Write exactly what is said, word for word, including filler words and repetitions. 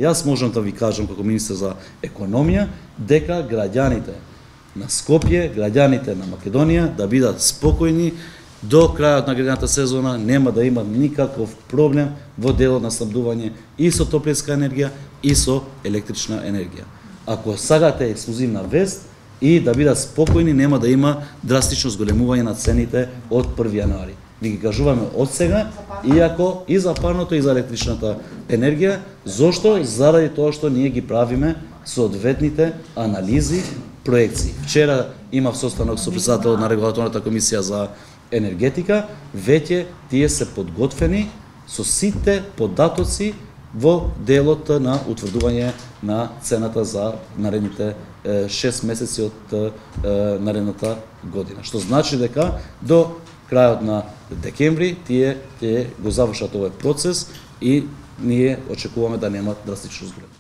Јас можам да ви кажам како министер за економија дека граѓаните на Скопје, граѓаните на Македонија да бидат спокојни до крајот на грејната сезона, нема да има никаков проблем во делот на снабдување и со топлинска енергија и со електрична енергија. Ако сагате ексклузивна вест и да бидат спокојни, нема да има драстично зголемување на цените од први јануари. Ви ги кажуваме од сега, иако и за парното и за електричната енергија, зошто? Заради тоа што ние ги правиме соодветните анализи, проекции. Вчера имав состанок со претседателот на регулаторната комисија за енергетика, веќе тие се подготвени со сите податоци во делот на утврдување на цената за наредните шест месеци од наредната година. Што значи дека до крајот на декември тие, тие го завршат овој процес и ние очекуваме да нема драстично зголем.